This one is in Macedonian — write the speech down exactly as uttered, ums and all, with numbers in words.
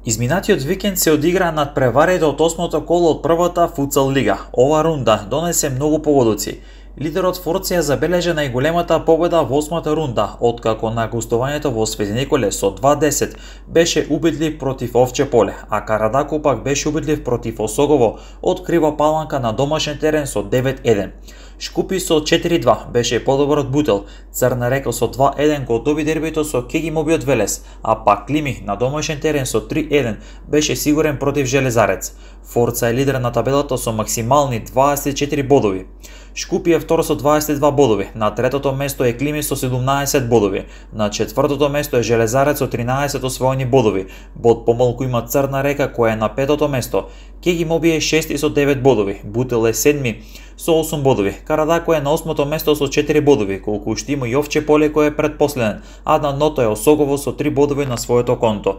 Изминатиот викенд се одигра надпреварите од осмото коло од првата футсал лига. Ова рунда донесе многу погодоци. Лидерот Форција забележа најголемата победа во осмата рунда, откако на гостувањето во Свети Николе со два десет беше убедлив против Овче поле, а Карадако пак беше убедлив против Осогово од Крива Паланка на домашен терен со девет еден. Шкупи со четири два беше подобар од Бутел, Црна Река со два еден го доби дербито со Кегимоби од Велес, а пак Клими на домашен терен со три еден беше сигурен против Железарец. Форца е лидер на табелата со максимални дваесет и четири бодови. Шкупи е втор со дваесет и два бодови, на третото место е Клими со седумнаесет бодови, на четвртото место е Железарец со тринаесет освоени бодови, бод помалку има Црна Река која е на петото место, Кегимоби е шести со девет бодови, Бутел е седми со осум бодови, Карадако е на осмото место со четири бодови, колку уште има и Овче поле кој е предпоследен, а на ното е Осогово со три бодови на своето конто.